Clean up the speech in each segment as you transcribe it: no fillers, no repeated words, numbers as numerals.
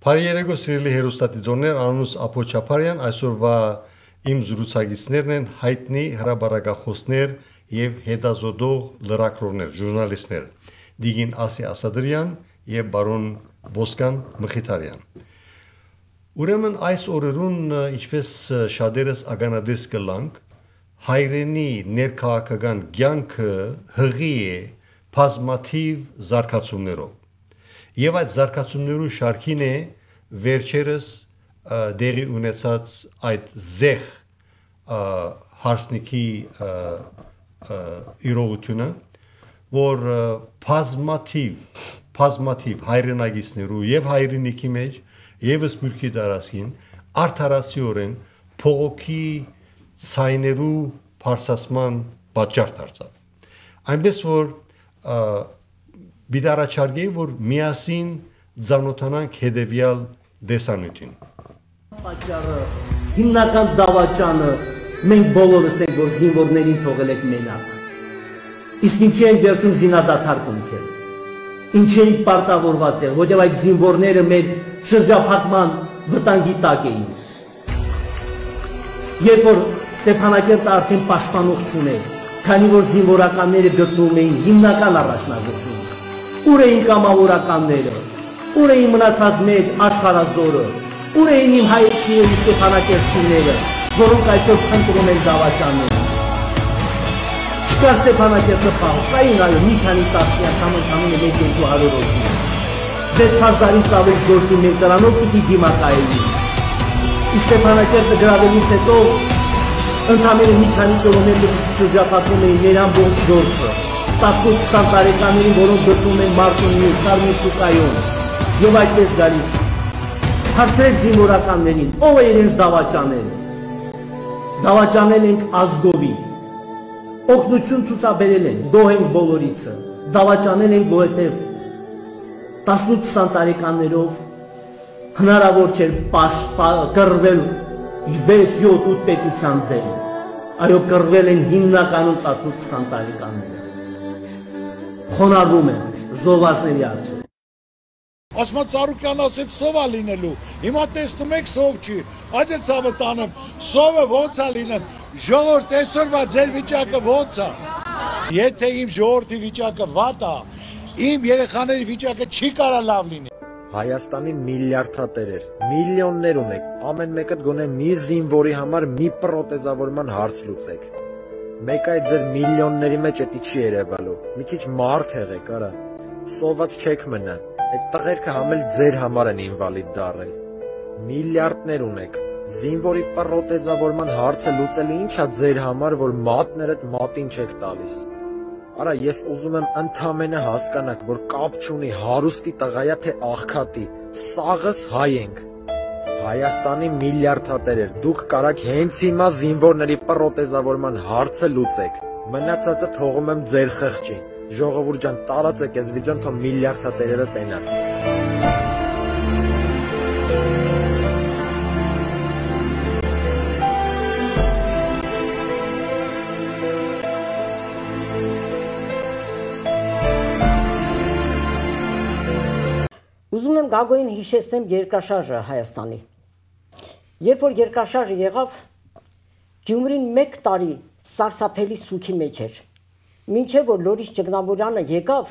Բարի երեկո սիրելի հերոստատիտորներ, անունս Ափո Չապարյան, այսօրվա իմ զրուցակիցներն են հայտնի հրապարակախոսներ եւ հետազոտող լրագրողներ, ժուրնալիստներ, Դիգին Ասի Ասադրյան եւ բարոն Ոսկան Մխիթարյան։ Ուրեմն այս օրերուն ինչպես շատերս ագանադես կլանք, հայրենի ներքաղաքական կյանքը հղի է բազմաթիվ զարգացումներով։ Եվ այդ զարգացումներու շարքին է վերջերս դեղի ունեցած այդ զեղ հարսնիքի իրողությունը, որ բազմաթիվ հայրենագիցներու եւ հայրենիքի մեջ եւ սփյուռքի տարածքին արդարացիորեն փողոքի ցայներու բարձրացման պատճառ դարձավ։ Այնպես որ Բիդարաչարգեի, որ միասին ծանոթանանք հետևյալ դեսանյութին։ Պատճառը հիմնական դավաճանը մենք բոլորս ենք, որ զինվորներին թողել եք մենակ։ Իսկ ինչի են վերջում զինադադար կնքել։ Ինչի են պարտավորված եղել, որտեղ այդ զինվորները մեր շրջափակման վտանգի տակ էին։ Երբ որ Ստեփանակերտը արդեն պաշտպանող չուներ, քանի որ զինվորականները գտնվում էին հիմնական առաջնագծում։ Ուր էին կամավորականները, ուր էին մնացած մեր աշխարհազորը, ուր էին իմ հայրենիքի եւ Ստեփանակերտցիները, որոնք այսօր փնտրում են դավաճանները։ Չկա Ստեփանակերտը պահային, այո, մի քանի տասնյակ համընկնում է 1-200 հոգի։ 6000-ից ավելի գործի մեր դրանով պիտի դիմակայեին։ Ստեփանակերտը գրավելուց հետո ընդամենը մի քանի կիլոմետր շրջապատում էին մեր ամբողջ զորքը, 18-20 տարեկաներին, որոնք գտնվում են Մարտունի, Կարմիր շուկայում, եւ այդպես գալիս։ Հարցրեք զինվորականներին, ով է իրենց դավաճանել։ Դավաճանել ենք ազգովի։ Օգնություն ցուցաբերել են, գոհ ենք բոլորիցը։ Դավաճանել ենք, որովհետեւ 18-20 տարեկաններով հնարավոր չէր կռվել 6-7 պետության դեմ, այո կռվել են հիմնականում 18-20 տարեկանները, խոնարհվում են զոհվածների առջև։ Ասма Ծառուկյան ասեց սով է լինելու, հիմա տեսնում եք սով չի, այդ է ցավը տանեմ, սովը ոնց է լինեն, ժողովուրդ այսօրվա ձեր վիճակը ոնց է, եթե իմ ժողովրդի վիճակը վատ է, իմ երեխաների վիճակը չի կարա լավ լինի։ Հայաստանի միլիարդատերեր, միլիոններ ունեք, ամեն մեկդ գոնե մի զինվորի համար մի պրոթեզավորման հարց լուծեք։ Մեկ այդ ձեր միլիոնների մեջ էտի չի երևալու, մի քիչ մարդ եղեք, արա, սոված չեք մնա, այդ տղերքը համ էլ ձեր համար են ինվալիդ դառել։ Միլիարդներ ունեք, զինվորի պրոթեզավորման հարցը լուծելը ինչ է ձեր համար, որ մատներդ մատին չեք տալիս։ Արա, ես ուզում եմ ընդամենը հասկանաք, որ կապ չունի հարուստի տղայա թե աղքատի, սաղս հայ ենք։ Հայաստանի միլիարդատերեր, դուք կարաք հենց հիմա զինվորների պրոթեզավորման հարցը լուծեք։ Մնացածը թողում եմ ձեր խղճին։ Ժողովուրդ ջան, տարածեք այս վիդեոն, թող միլիարդատերերը տենան։ Ուզում եմ Գագոյին հիշեցնեմ երկրաշարժը Հայաստանի։ Երբ որ երկրաշարժը եղավ, Գյումրին 1 տարի սարսափելի սուքի մեջ էր։ Մինչև որ Լորիս Ճգնավորյանը եկավ,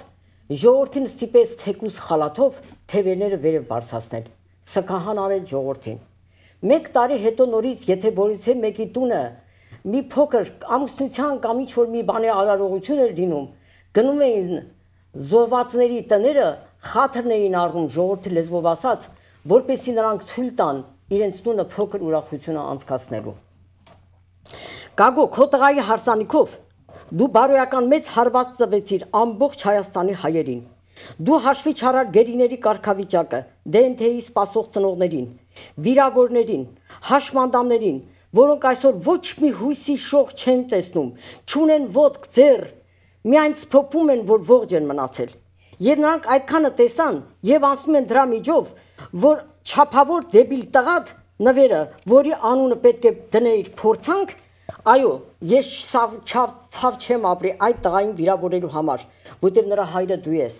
ժողովրդին ստիպեց թեկուս խալաթով թևերները վերև բարձրացնել։ Սքահան արեց ժողովրդին։ 1 տարի հետո նորից, եթե որից մեկի տունը մի փոքր ամուսնության կամ ինչ-որ մի բանի արարողություն էր լինում, գնում էին զոհվածների տները, խաթրն էին առնում ժողովրդի լեզվով ասած, որպեսզի նրանք թույլ տան իրենց տունը փոքր ուրախությունը անցկացնելու։ Գագո, քո տղայի հարսանիքով դու բարոյական մեծ հարված տվեցիր ամբողջ Հայաստանի հայերին։ Դու հաշվի չառար գերիների կարգավիճակը, դենթեի սպասող ծնողներին, վիրավորներին, հաշմանդամներին, որոնք այսօր ոչ մի հույսի շող չեն տեսնում, չունեն ոտք, ձեռ, միայն սփոփում են, որ ողջ են մնացել։ Եվ նրանք այդքանը տեսան եւ անցնում են դրա միջով, որ չափավոր դեբիլ տղատ նվերը, որի անունը պետք է դնեիր փորձանք, այո, ես ցավ չեմ ապրի այդ տղային վիրավորելու համար, որտեղ նրա հայրը դու ես։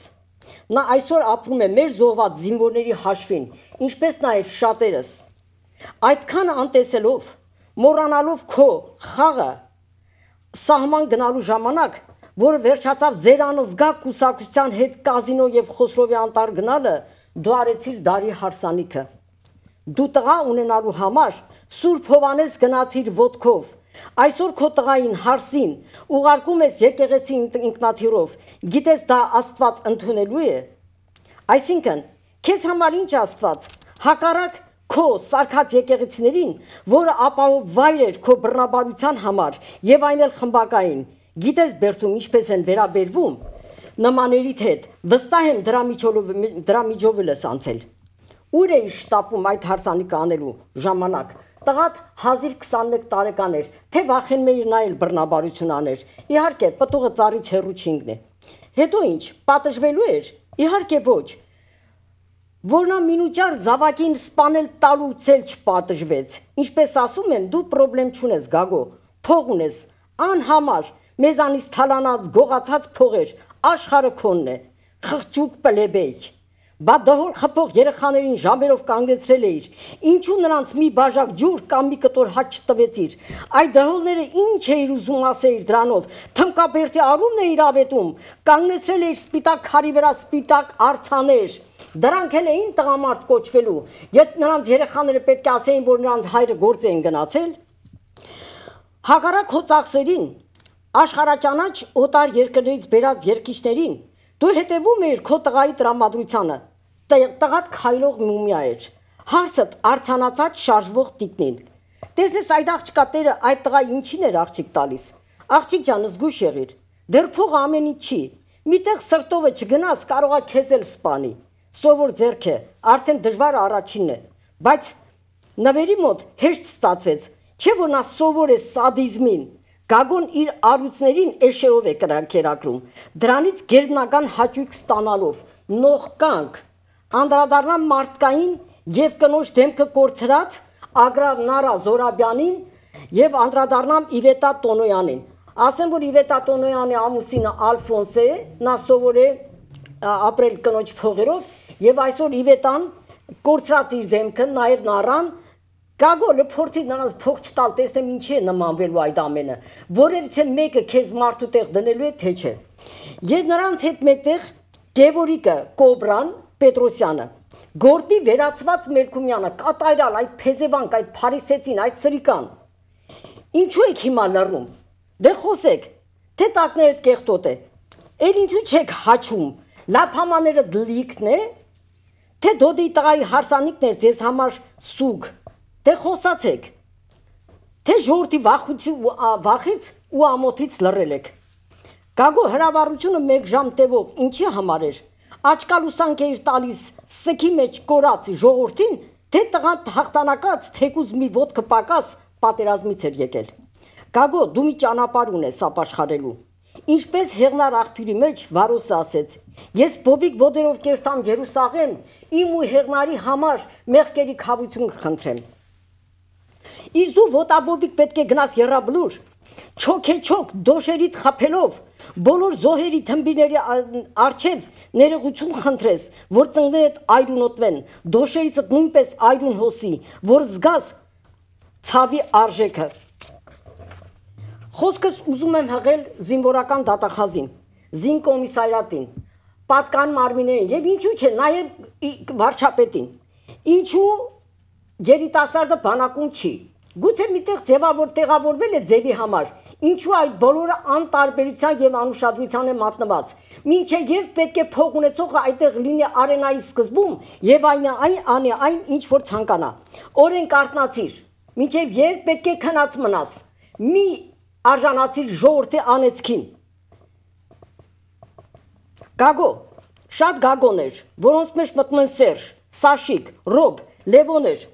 Նա այսօր ապրում է մեր զոհված զինվորների հաշվին, ինչպես նաև շատերս։ Այդքան անտեսելով, մոռանալով քո խաղը սահման գնալու ժամանակ, որը վերջացավ ձեր անզգա կուսակցության հետ կազինո եւ Խոսրովի անտառ գնալը, դու արեցիր դարի հարսանիքը։ Դու տղա ունենալու համար Սուրբ Հովանես գնացիր ոտքով։ Այսօր քո տղային հարսին ուղարկում ես եկեղեցի ինքնաթիռով։ Գիտես դա Աստված ընդունելու է։ Այսինքն, քեզ համար ինչ Աստված, հակառակ քո սարքած եկեղեցիներին, որը ապահով վայր էր քո բռնաբարության համար եւ այն էլ խմբակային։ Գիտես Բերդում ինչպես են վերաբերվում նմաներիդ հետ։ Վստահ եմ դրա միջով ես անցել։ Ուր էի շտապում այդ հարսանիքը անելու ժամանակ։ Տղատ հազիվ 21 տարեկան էր, թե վախենում էիր նա էլ բռնաբարություն աներ։ Իհարկե, պտուղը ծառից հեռու չընկնի։ Հետո ինչ, պատժվելու էր։ Իհարկե ոչ։ Որ նա մինուճար զավակին սպանել տալուց էլ չպատժվեց։ Ինչպես ասում են, դու պրոբլեմ չունես, Գագո, փող ունես, անհամար, մեզանից թալանած, գողացած փողեր, աշխարհը քոնն է, խղճուկ պլեբեյ։ Բա դհոլ խփող երեխաներին ժամերով կանգնեցրել էիր, ինչու նրանց մի բաժակ ջուր կամ մի կտոր հաց չտվեցիր, այդ դհոլները ինչ էիր ուզում ասեիր դրանով, թմկաբերդի արումն էիր ավետում, կանգնեցրել էիր սպիտակ քարի վրա սպիտակ արցաներ, դրանք էլ էին տղամարդ կոչվելու, եթե նրանց երեխաները պետք է ասեին, որ նրանց հայրը գործ էին գնացել։ Հակառակ հո ծախսերին, աշխարհաճանաչ օտար երկրներից բերած երկիչներին, դու հետևում էիր քո տղայի տրամադրությանը, տղատ քայլող մումիա էր, հարսդ արցանացած շարժվող տիկնին։ Տեսես այդ աղջկա տերը այդ տղա ինչին էր աղջիկ տալիս։ Աղջիկ ջան, զգույշ եղիր, դեռ փողը ամեն ինչ չի, միտեղ սրտովը չգնաս, կարող է քեզ էլ սպանի։ Սովոր ձեռք է, արդեն դժվարը առաջինն է, բայց նվերի մոտ հեշտ ստացվեց, չէ որ նա սովոր է սադիզմին։ Գագոն իր առույցներին էշերով է կերակրում, դրանից գերբնական հաճույք ստանալով, նողկանք, անդրադառնամ մարդկային եւ կնոջ դեմքը կորցրած Ագրավ Նարա Զորաբյանին եւ անդրադառնամ Իվետա Տոնոյանին։ Ասեմ, որ Իվետա Տոնոյանի ամուսինը Ալֆոնս է, նա սովոր է ապրել կնոջ փողերով եւ այսօր Իվետան կորցրած իր դեմքը, նաեւ Նարան Գագոլը փորձի նրանց փող չտալ, տեսնեմ ինչի է նմանվելու այդ ամենը, որևիցե մեկը քեզ մարդու տեղ դնելու է, թե չէ։ Եվ նրանց հետ մեկտեղ Գևորիկը, Կոբրան, Պետրոսյանը, Գորտի վերացված Մերկումյանը, կատարյալ այդ փեզևանք, այդ փարիսեցին, այդ սրիկան։ Ինչու եք հիմա լռում։ Դե խոսեք, թե տակներդ կեղտոտ է։ Էլ ինչու չեք հաչում։ Լափամաները դլիկն է, թե դոդի տղայի հարսանիքն էր ձեզ համար սուգ։ Թե խոսացեք, թե ժողովրդի վախից ու ամոթից լռել եք։ Գագո հրավառությունը 1 ժամ տևող ինչի համար էր։ Աչկալուսանք էիր տալիս սքի մեջ կորած ժողովրդին, թե տղան հաղթանակած թեկուզ մի ոտքը պակաս պատերազմից էր եկել։ Գագո, դու մի ճանապարհ ունես ապաշխարելու։ Ինչպես Հեղնար աղբյուրի մեջ Վարոսը ասեց. ես բոբիկ ոտերով կերտամ Երուսաղեմ, իմ ու Հեղնարի համար մեղքերի քավություն խնդրեմ։ Իսկ դու ոտաբոբիկ պետք է գնաս եռաբլուր, չոքեչոք դոշերիդ խփելով, բոլոր զոհերի թմբիների առջև ներողություն խնդրես, որ ծնկներդ այրունոտվեն, դոշերիցդ նույնպես այրուն հոսի, որ զգաս ցավի արժեքը։ Խոսքս ուզում եմ հղել զինվորական դատախազին, զինկոմիսարիատին, պատկան մարմիններին եւ ինչու՞ չէ, նաեւ վարչապետին։ Ինչու երիտասարդը բանակում չի։ Գուցե միտեղ տեղավորվել է ձևի համար, ինչու այդ բոլորը անտարբերության եւ անուշադրության է մատնված։ Մինչեւ եւ պետք է փող ունեցողը այդտեղ լինի արենայի սկզբում եւ անի այն ինչ որ ցանկանա։ Օրենք արտնացիր, մինչեւ եւ պետք է քնած մնաս։ Մի արժանացիր ժողովրդի անեծքին։ Գագո, շատ գագոներ, որոնց մեջ մտնում են Սերժ, Սաշիկ, Ռոբ, Լևոներ։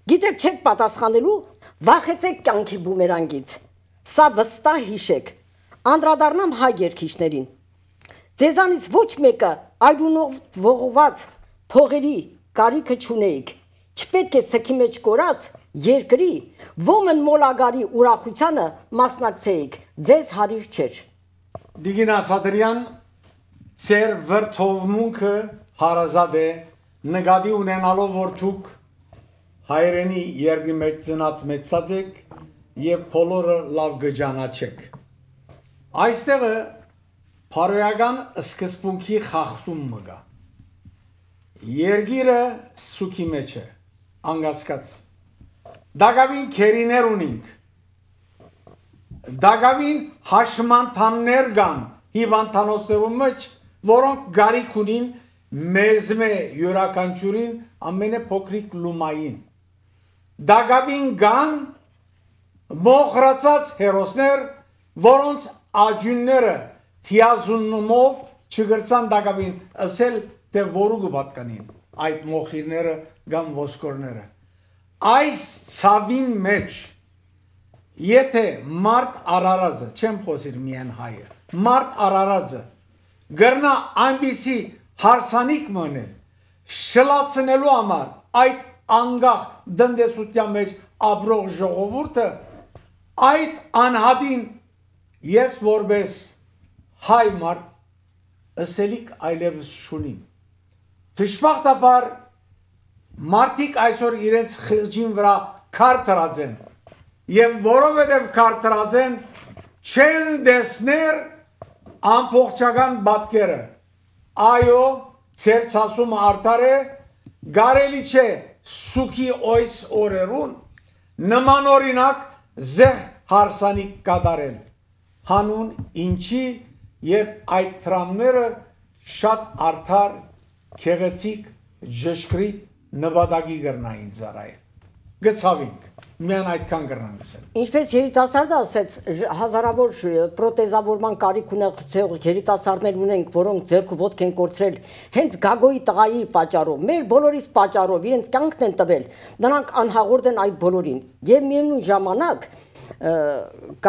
Գիտեք չեք պատասխանելու, վախեցեք կյանքի բումերանգից։ Սա վստահ հիշեք։ Անդրադառնամ հայ երգիչներին։ Ձեզանից ոչ մեկը այրունով ողողված փողերի կարիքը չունեիք։ Չպետք է սքի մեջ կորած երկրի ոմն մոլագարի ուրախությանը մասնակցեիք, ձեզ հարիր չէր։ Դիգին Ասատրյան, ծեր վրթովմունքը հարազատ է նկատի ունենալով որ դուք հայրենի երկրի մեջ ծնած մեծած եք եւ բոլորը լավ գճանաչեք այստեղը փարոյական սկզբունքի խախտում մգա երկիրը սուքի մեջ է անգասկած դակավին քերիներ ունինք դակավին հաշմանդամներ կան հիվանդանոցներում մեջ որոնք գարիք ունին մեզմե յուրաքանչյուրին ամենափոքրիկ լումային դակավին կան մոխրացած հերոսներ որոնց աջունները թիազունումով չգրցան դակավին ասել թե որու կպատկանին այդ մոխիրները կամ ոսկորները այս ցավին մեջ եթե մարդ արարածը չեմ խոսիր միայն հայը մարդ արարածը գրնա այնպիսի հարսանիք մնել շլացնելու համար այդ անգախ դնդեսության մեջ ապրող ժողովուրդը այդ անհատին ես որպես հայ մարդ ըսելիք այլևս շունին դժբախտաբար մարդիկ այսօր իրենց խղճին վրա քար տրած են եւ որովհետեւ քար տրած են չեն դեսներ ամբողջական պատկերը այո ծեր ցասումը արդար է գարելի չէ սուքի օյս օրերուն նման օրինակ զեղ հարսանիք կատարել հանուն ինչի եւ այդ տրամները շատ արդար քեղեցիկ ժշկրիտ նվադագի գրնային ծառայել գծավինք միան այդքան գրնանցել Ինչպես երիտասարդը ասեց հազարավոր պրոթեզավորման կարիք ունեցող երիտասարդներ ունենք որոնք ձեռք ու ոտք են կորցրել հենց Գագոյի տղայի պատճառով մեր բոլորիս պատճառով իրենց կյանքն են տվել նրանք անհաղորդ են այդ բոլորին եւ միևնույն ժամանակ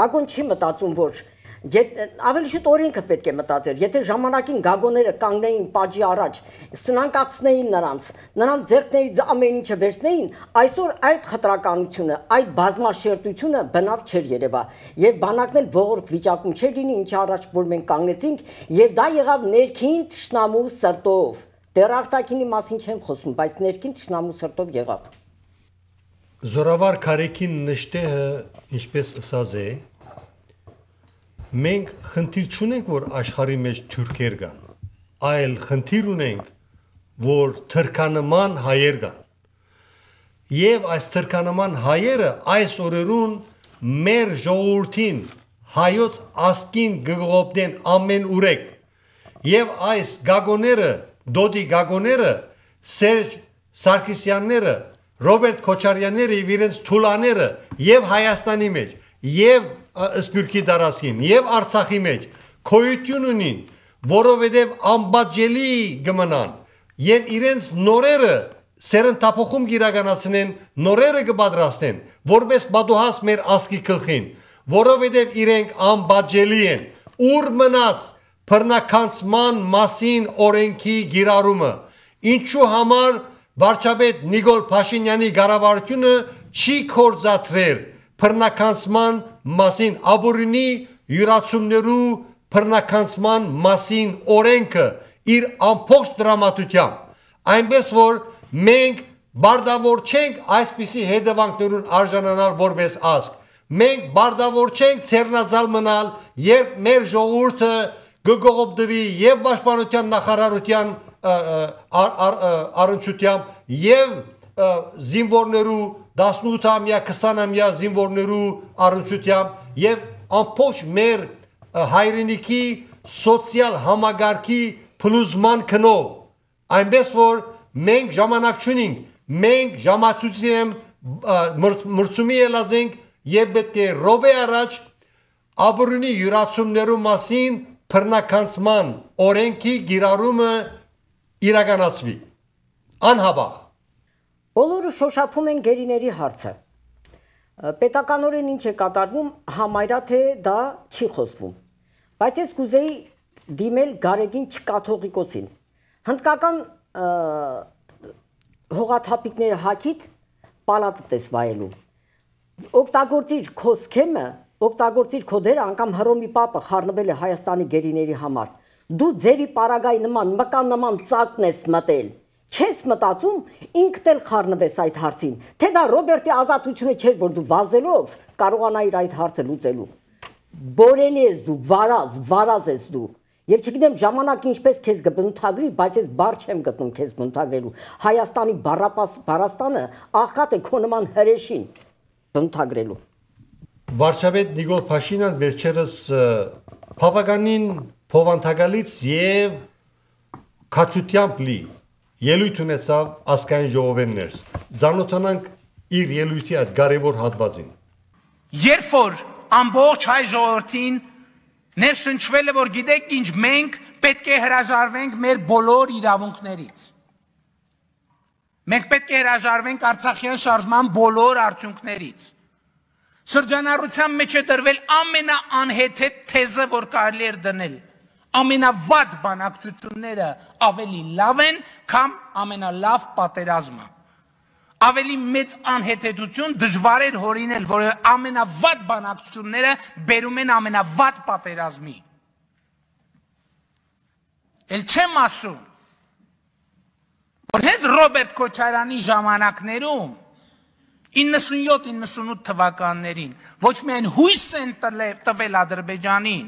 Գագոն չի մտածում որ ավելի շուտ օրենքը պետք է մտածեր եթե ժամանակին գագոները կանգնեին պատժի առաջ սնանկացնեին նրանց ձեռքներից ամեն ինչը վերցնեին այսօր այդ խտրականությունը այդ բազմաշերտությունը բնավ չէր երևա եւ բանակն էլ ողորկ վիճակում չէր լինի ինչի առաջ որ մենք կանգնեցինք եւ դա եղավ ներքին թշնամու սրտով դեռ արտաքինի մասին չեմ խոսում բայց ներքին թշնամու սրտով եղավ Զորավար Քարեքին նշտեհը ինչպես ասած է Մենք խնդիր չունենք, որ աշխարհի մեջ թուրքեր կան, այլ խնդիր ունենք, որ թրքանման հայեր կան։ Եվ այս թրքանման հայերը այս օրերուն մեր ժողովրդին հայոց ասկին գողոպտեն ամեն ուրեք։ Եվ այս գագոները, դոդի գագոները, Սերժ Սարգսյանները, Ռոբերտ Քոչարյանները եւ իրենց թուլաները եւ Հայաստանի մեջ եւ Սփյուռքի դարաշին եւ Արցախի մեջ քոյություն ունին, որովհետեւ անբաժելի կմնան եւ իրենց նորերը սերնդափոխում գիրականացնեն, նորերը կպատրաստեն, որպես բադուհաս մեր ասկի գլխին, որովհետեւ իրենք անբաժելի են, ուր մնաց բռնականցման մասին օրենքի գիրառումը, ինչու համար վարչապետ Նիկոլ Փաշինյանի կառավարությունը չի կործատրել բռնականցման մասին աբորինի յուրացումներու բռնականցման մասին օրենքը իր ամբողջ դրամատությամբ այնպես որ մենք բարդավոր չենք այսպիսի հետևանքներուն արժանանալ որպես ազգ մենք բարդավոր չենք ցերնածալ մնալ երբ մեր ժողովուրդը գողոպտվի եւ պաշտպանության նախարարության առընչությամբ եւ զինվորներու 18-ամյա, 20-ամյա զինվորներու առնչությամբ եւ ամբողջ մեր հայրենիքի սոցիալ համագարքի փլուզման քնով այնպես որ մենք ժամանակ չունենք մենք ժամացույցին մրցումի ելազենք եւ պետք է ռոբե առաջ աբորինի յուրացումներու մասին բռնականցման օրենքի գիրառումը իրականացվի անհաբաղ Բոլորը շոշափում են գերիների հարցը։ Պետականորեն ինչ է կատարվում, համարյա թե դա չի խոսվում։ Բայց ես կուզեի դիմել Գարեգին Չկաթողիկոսին։ Հնդկական հողաթափիկները հակիտ պալատը տես վայելու։ Օգտագործիր քո սքեմը, օգտագործիր քո դերը, անգամ Հռոմի Պապը խառնվել է Հայաստանի գերիների համար։ Դու ձևի պարագայի նման մկան նման ծակն ես մտել։ Չես մտածում ինքդ էլ խառնվես այդ հարցին, թե դա Ռոբերտի ազատությունը չէր, որ դու վազելով կարողանայիր այդ հարցը լուծելու։ Բորենի ես դու, վարազ ես դու։ Եվ չգիտեմ ժամանակը ինչպես քեզ կբնութագրի, բայց ես բառ չեմ գտնում քեզ բնութագրելու։ Հայաստանի բարաստանը աղքատ է քո նման հրեշին բնութագրելու։ Վարչապետ Նիկոլ Փաշինյան վերջերս բավականին փոխանցակալից եւ քաչությամբ լի ելույթ ունեցավ ազգային ժողովեն ներս։ Զանոթանանք իր ելույթի այդ կարևոր հատվածին։ Երբ որ ամբողջ հայ ժողովրդին ներշնչվել է, որ գիտեք ինչ, մենք պետք է հրաժարվենք մեր բոլոր իրավունքներից։ Մենք պետք է հրաժարվենք Արցախյան շարժման բոլոր արդյունքներից։ Շրջանառության մեջ է դրվել ամենաանհեթեթ թեզը, որ կարելի էր դնել։ Ամենավատ բանակցությունները ավելի լավ են, քան ամենալավ պատերազմը։ Ավելի մեծ անհեթեթություն դժվար էր հորինել, որ ամենավատ բանակցությունները բերում են ամենավատ պատերազմի։ Էլ չեմ ասում, որ հենց Ռոբերտ Քոչարյանի ժամանակներում 97-98 թվականներին ոչ միայն հույս են տվել Ադրբեջանին,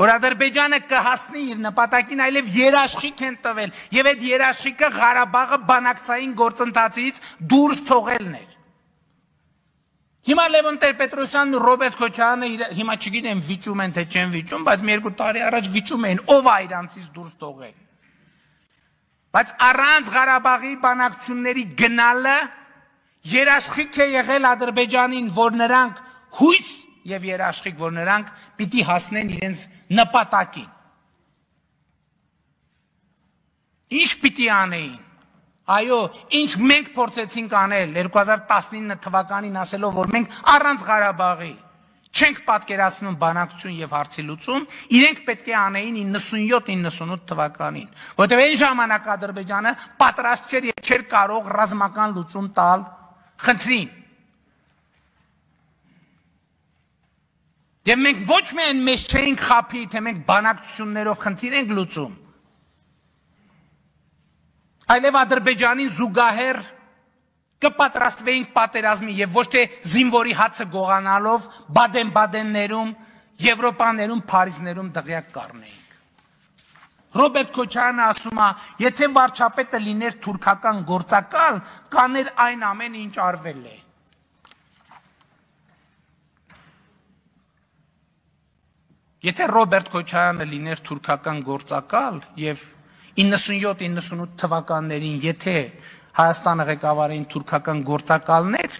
որ Ադրբեջանը կհասնի իր նպատակին, այլև երաշխիք են տվել, եւ այդ երաշխիքը Ղարաբաղը բանակցային գործընթացից դուրս թողելն էր։ Հիմա Լևոն Տեր-Պետրոսյանն ու Ռոբերտ Քոչարյանը հիմա չգիտեմ վիճում են թե չեն վիճում, բայց մի երկու տարի առաջ վիճում էին, ով է իրանցից դուրս թողել։ Բայց առանց Ղարաբաղի բանակցությունների գնալը երաշխիք է եղել Ադրբեջանին, որ նրանք հույս եւ երաշխիք, որ նրանք պիտի հասնեն իրենց նպատակին։ Ինչ պիտի անեին։ Այո, ինչ մենք փորձեցինք անել 2019 թվականին ասելով, որ մենք առանց Ղարաբաղի չենք պատկերացնում բանակցություն եւ հարցի լուծում, իրենք պետք է անեին 97-98 թվականին, որտեղ այն ժամանակ Ադրբեջանը պատրաստ չէր եւ չէր կարող ռազմական լուծում տալ խնդրին։ Եվ մենք ոչ միայն մեզ չէինք խափի, թե մենք բանակցություններով խնդիր ենք լուծում, այլև Ադրբեջանին զուգահեռ կպատրաստվեինք պատերազմի եւ ոչ թե զինվորի հացը գողանալով Բադեն-Բադեններում, Եվրոպաներում, Փարիզներում դղյակ կառնեինք։ Ռոբերտ Քոչարյանը ասում է, եթե վարչապետը լիներ թուրքական գործակալ, կաներ այն ամենը, ինչ արվել է։ Եթե Ռոբերտ Քոչարյանը լիներ թուրքական գործակալ եւ 97-98 թվականներին, եթե Հայաստանը ղեկավարեին թուրքական գործակալներ,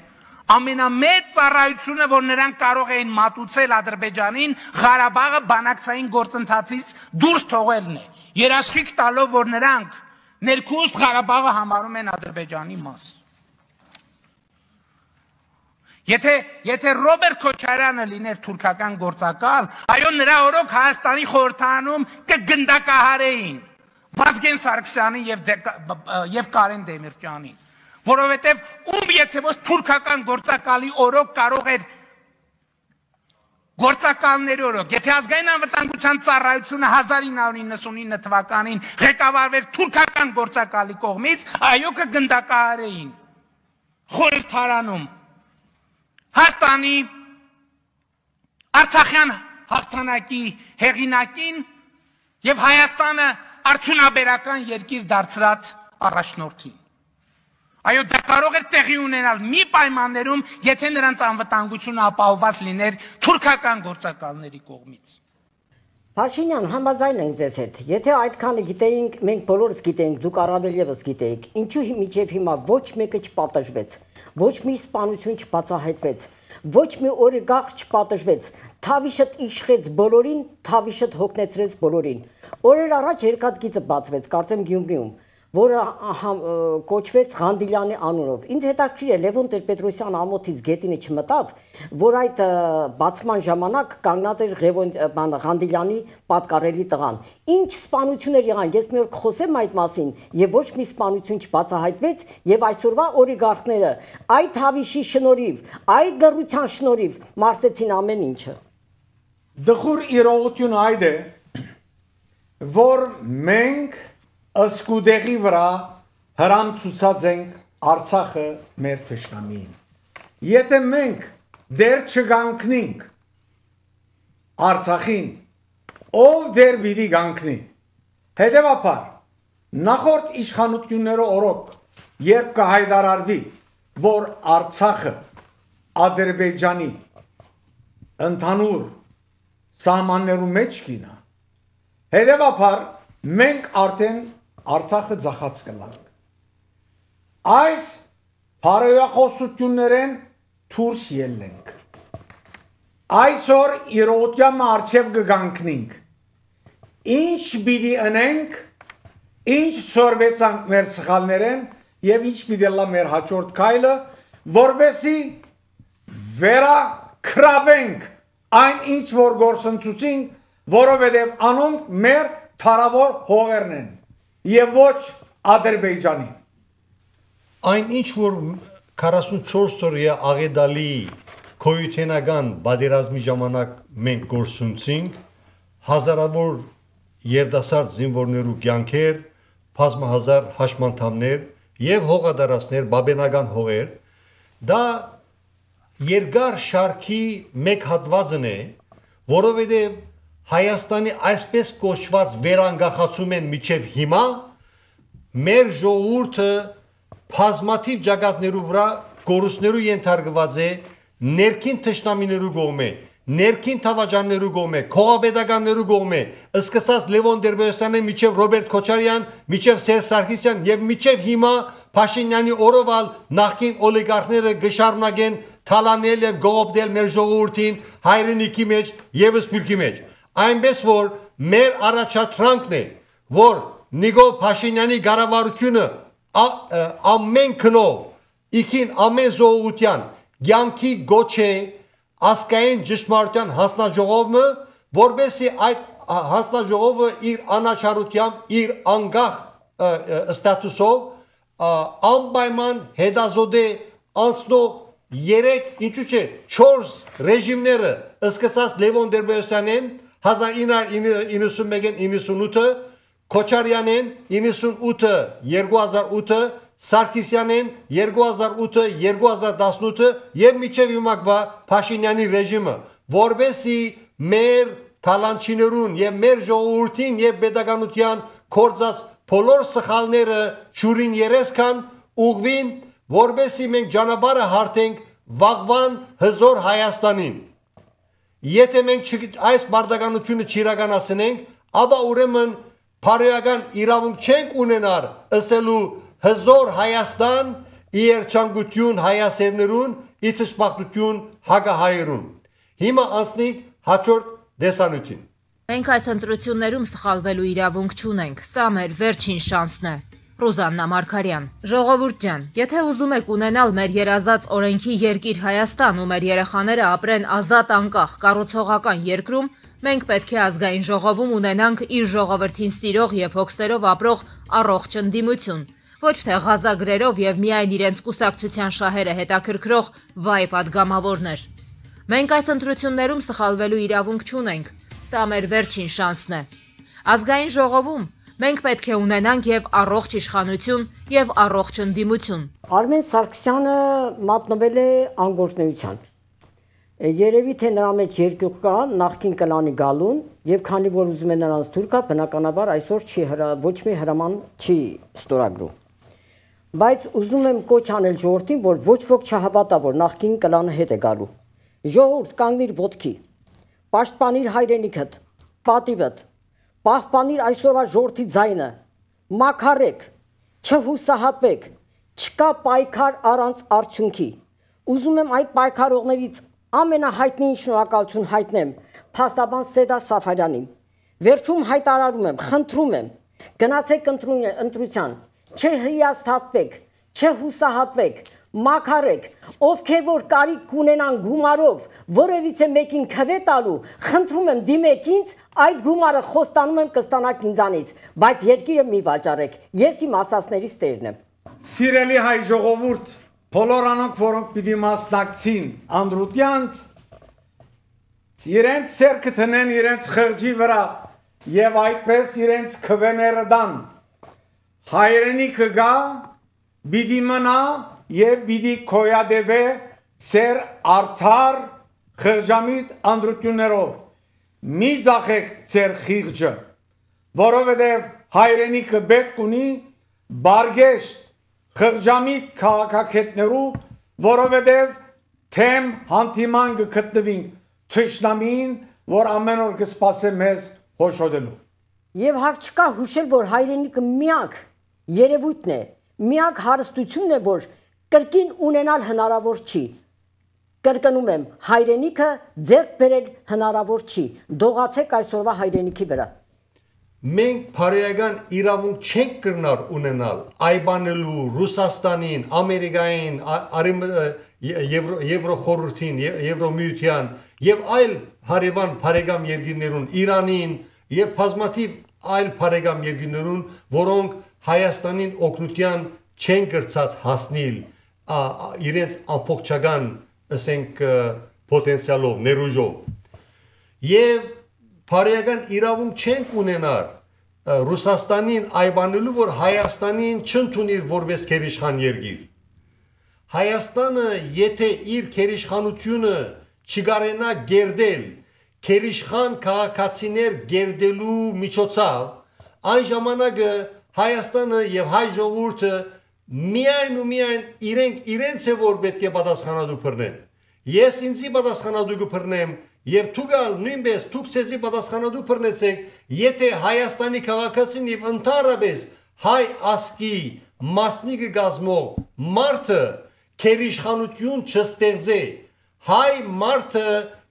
ամենամեծ ծառայությունը, որ նրանք կարող էին մատուցել Ադրբեջանին, Ղարաբաղը բանակցային գործընթացից դուրս թողելն է, երաշխիք տալով, որ նրանք ներքուստ Ղարաբաղը համարում են Ադրբեջանի մաս։ Եթե Ռոբերտ Քոչարյանը լիներ թուրքական գործակալ, այո, նրա օրոք Հայաստանի խորհրդարանում կգնդակահարեին Վազգեն Սարգսյանին եւ Կարեն Դեմիրճյանին, որովհետեւ ում եթե ոչ թուրքական գործակալի օրոք կարող էր գործակալների օրոք, եթե ազգային անվտանգության ծառայությունը 1999 թվականին ղեկավարվեր թուրքական գործակալի կողմից, այո կգնդակահարեին խորհրդարանում Հայաստանի Արցախյան հաղթանակի հեղինակին եւ Հայաստանը արդյունաբերական երկիր դարձրած առաջնորդին։ Այո, դա կարող էր տեղի ունենալ մի պայմաններում, եթե նրանց անվտանգությունը ապահովված լիներ թուրքական գործակալների կողմից։ Փաշինյան, համաձայն ենք ձեզ հետ։ Եթե այդքանը գիտեինք, մենք բոլորս գիտեինք, դուք առավել եւս գիտեիք, ինչու միջև հիմա ոչ մեկը չպատժվեց, ոչ մի սպանություն չբացահայտվեց, ոչ մի օրիգարխ չպատժվեց, Թավիշտ իշխեց բոլորին, Թավիշտ հոգնեցրեց բոլորին։ Օրեր առաջ երկաթգիծը բացվեց, կարծեմ Գյումրիում, որը կոչվեց Ղանդիլյանի անունով։ Ինձ հետաքրքիր է Լևոն Տեր-Պետրոսյան ամոթից գետինը չմտավ, որ այդ բացման ժամանակ կանգնած էր Ղանդիլյանի պատկառելի տղան։ Ինչ սպանություններ եղան, ես մի օր կխոսեմ այդ մասին, եւ ոչ մի սպանություն չբացահայտվեց, եւ այսօրվա օրիգարխները այդ Թավիշի շնորհիվ, այդ լռության շնորհիվ մարսեցին ամեն ինչը։ Դխուր իրողությունը այդ է, որ մենք ըսկուդեղի վրա հրամ ցուցած ենք Արցախը մեր թշնամին։ Եթե մենք դեր չգանքնենք Արցախին, ով դեր պիտի գանքնի։ Հետևաբար, նախորդ իշխանությունները օրոք, երբ կհայտարարվի, որ Արցախը Ադրբեջանի ընդհանուր սահմաններու մեջ կինա, հետևաբար մենք արդեն Արցախը ձախած կլանք։ Այս բարոյախոսություններեն թուրս ելնենք։ Այսօր իրոտյամը արջև կգանքնինք։ Ինչ պիտի ընենք, ինչ սորվեցանք մեր սխալներեն և ինչ պիտի լա մեր հաջորդ քայլը, որպեսզի վերա քրավենք այն ինչ որ գործընծուցինք, որովհետև անոնք մեր թարավոր հողերն են և ոչ Ադրբեջանի։ Այն ինչ որ 44 օրյա աղետալի քոյութենական բادرազմի ժամանակ մենք գործունցինք, հազարավոր երդասարդ զինվորներու կյանքեր, բազմահազար հաշմանդամներ եւ հողադարածներ, բաբենական հողեր, դա երկար շարքի մեկ հատվածն է, որովհետեւ Հայաստանի այսպես կոչված վերանգախացում են միջև հիմա, մեր ժողովուրդը բազմաթիվ ջագատներու վրա կորուստներու ենթարկված է ներքին թշնամիներու կողմէ, ներքին թավաջաններու կողմէ, քողապետականներու կողմէ, սկսած Լևոն Տեր-Պետրոսյանի միջև Ռոբերտ Քոչարյան, միջև Սերժ Սարգսյան եւ միջև հիմա Փաշինյանի օրովալ նախկին օլիգարխները գշարունակեն թալանել եւ գողոպտել մեր ժողովրդին հայրենիքի մեջ եւ սփյուռքի մեջ։ Այնպես որ մեր առաջադրանքն է, որ Նիկոլ Փաշինյանի կառավարությունը ամեն քնով, իքին ամեն ժողովրդյան կյանքի գոչ է ազգային ճշմարտության հանձնաժողովը, որովհետեւ այդ հանձնաժողովը իր անաչառությամբ, իր անկախ ստատուսով անպայման հետազոտե անցնող 3, ինչու՞ չէ, 4 ռեժիմները սկսած Լևոն Տեր-Պետրոսյանեն 1991-98, Քոչարյանեն 98-ը 2008-ը, Սարգսյանեն 2008-2018 եւ միջև հիմակվա Փաշինյանի ռեժիմը, որովհետեւ մեր թալանչիներուն եւ մեր ժողովրդին եւ pedagogian կորցած բոլոր սխալները ճուրին երեսքան ուղվին, որովհետեւ մենք ճանապարհը հարթենք վաղվան հզոր Հայաստանին։ Եթե մենք այս բարդականությունը չիրականացնենք, ապա ուրեմն բարոյական իրավունք չենք ունենալ ասելու հզոր Հայաստան, իերչանկություն հայասերներուն, իթշպախտություն հակահայերուն։ Հիմա անցնենք հաջորդ դեսանյութին։ Մենք այս ընտրություններում սխալվելու իրավունք չունենք, սա մեր վերջին շանսն է։ Ռուզաննա Մարգարյան։ Ժողովուրդ ջան, եթե ուզում եք ունենալ մեր երազած օրենքի երկիր Հայաստան ու մեր երեխաները ապրեն ազատ անկախ կառուցողական երկրում, մենք պետք է ազգային ժողովում ունենանք իր ժողովրդին սիրող եւ հոգսերով ապրող առողջ ընդդիմություն, ոչ թե ղազագրերով եւ միայն իրենց կուսակցության շահերը հետաքրքրող վայ պատգամավորներ։ Մենք այս ընտրություններում սխալվելու իրավունք չունենք, սա մեր վերջին շանսն է։ Ազգային ժողովում մենք պետք է ունենանք եւ առողջ իշխանություն եւ առողջ ընդդիմություն։ Արմեն Սարգսյանը մատնվել է անգործնեության։ Երևի թե նրա մեջ երկյուղ կա նախքին կլանի գալուն եւ քանի որ ուզում է նրանց թուրքա, բնականաբար այսօր ոչ մի հրաման չի ստորագրում։ Բայց ուզում եմ կոչ անել ժողովրդին, որ ոչ ոք չհավատա, որ նախքին կլանը հետ է գալու։ Ժողովուրդ կանգնիր ոտքի, պաշտպանիր հայրենիքդ, պատիվդ, պահպանիր այսօրվա ժողովրդի ձայնը, մաքարեք, չհուսահատվեք, չկա պայքար առանց արդյունքի։ Ուզում եմ այդ պայքարողներից ամենահայտնի շնորհակալություն հայտնեմ փաստաբան Սեդա Սաֆարյանին։ Վերջում հայտարարում եմ, խնդրում եմ, գնացեք ընտրության, չհիասթափվեք, չհուսահատվեք, մաքարեք, ովքեր որ կարիք կունենան գումարով որևիցե մեկին քվե տալու, խնդրում եմ դիմեք ինձ, այդ գումարը խոստանում եմ կստանաք ինձանից, բայց երկիրը մի վաճառեք, ես իմ ասածներից տերն եմ։ Սիրելի հայ ժողովուրդ, բոլոր անոնք, որոնք պիտի մասնակցին անդրությանց, իրենց սերքը տնեն իրենց խղճի վրա եւ այդպես իրենց քվեները դան։ Հայրենիքը գա, բիդի մնա եւ բիդի կոյադեվե ծեր արդար խղճամիտ անդրություններով։ Մի ձախեք ծեր խիղճը, որովհետեւ հայրենիքը պետք ունի բարգեշտ խղճամիտ քաղաքակետներու, որովհետեւ թեմ հանդիման կգտնվին թշնամին, որ ամեն օր կսպասե մեզ հոշոտելու։ Եվ հարկ չկա հուշել, որ հայրենիքը միակ երևույթն է, միակ հարստությունն է, որ կրկին ունենալ հնարավոր չի։ Կրկնում եմ, հայրենիքը ձեռք բերել հնարավոր չի։ Դողացեք այսօրվա հայրենիքի վրա։ Մենք բարոյական իրավունք չենք կրնար ունենալ այբանելու Ռուսաստանին, Ամերիկային, Եվրոխորհրդին, Եվրոմիության եւ այլ հարևան բարեկամ երկրներուն, Իրանին եւ բազմաթիվ այլ բարեկամ երկրներուն, որոնք Հայաստանին օգնության չեն կրծած հասնել իրենց ամբողջական, ասենք, պոտենցիալով, ներուժով։ Եվ բարոյական իրավունք չենք ունենար Ռուսաստանին այբանելու, որ Հայաստանին չընդունիր որպես քերիշխան երկիր։ Հայաստանը, եթե իր քերիշխանությունը չգարենա գերդել, քերիշխան քաղաքացիներ գերդելու միջոցով, այն ժամանակը Հայաստանը եւ հայ ժողովուրդը միայն ու միայն իրենց է որ պետք է պատասխանատու բռնեն։ Ես ինձի պատասխանատու կբռնեմ եւ դուքալ նույնպես դուք ցեզի պատասխանատու բռնեցեք, եթե Հայաստանի քաղաքացին եւ ընդհանրապես հայ ասկի մասնիկը գազմող մարդը քերիշխանություն չստեղծե, հայ մարդը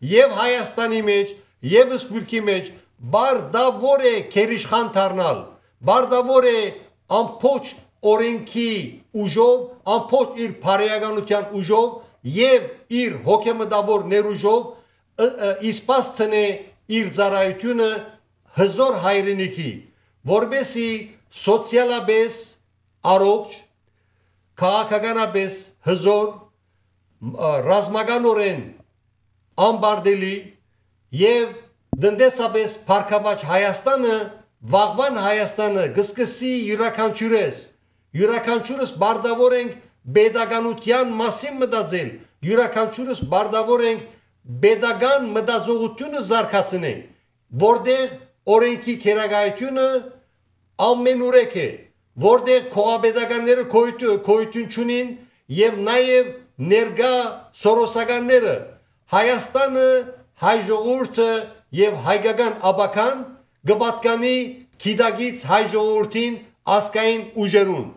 եւ Հայաստանի մեջ եւ Սփյուռքի մեջ բարդավոր է քերիշխան դառնալ, բարդավոր է ամբողջ օրենքի ուժով, ամբողջ իր բարոյականության ուժով եւ իր հոգեմտավոր ներուժով իսպաստնե իր ծառայությունը հզոր հայրենիքի, որբեսի սոցիալապես առողջ, քաղաքականապես հզոր, ռազմականորեն անբարդելի եւ դնդեսապես փառքավաճ Հայաստանը, վաղվան Հայաստանը գսկսի յուրաքանչյուրս բարդավոր ենք pedagogian մասին մտածել, յուրաքանչյուրս բարդավոր ենք pedagogan մտածողությունը զարգացնենք, որտեղ օրենքի քերագայությունը ամենուրեք է, որտեղ քողապետականները քոյություն չունին եւ նաեւ ներգա սորոսականները Հայաստանը, հայ ժողովուրդը եւ հայկական աբական գպատկանի քիդագից հայ ժողովրդին ասկային ուժերուն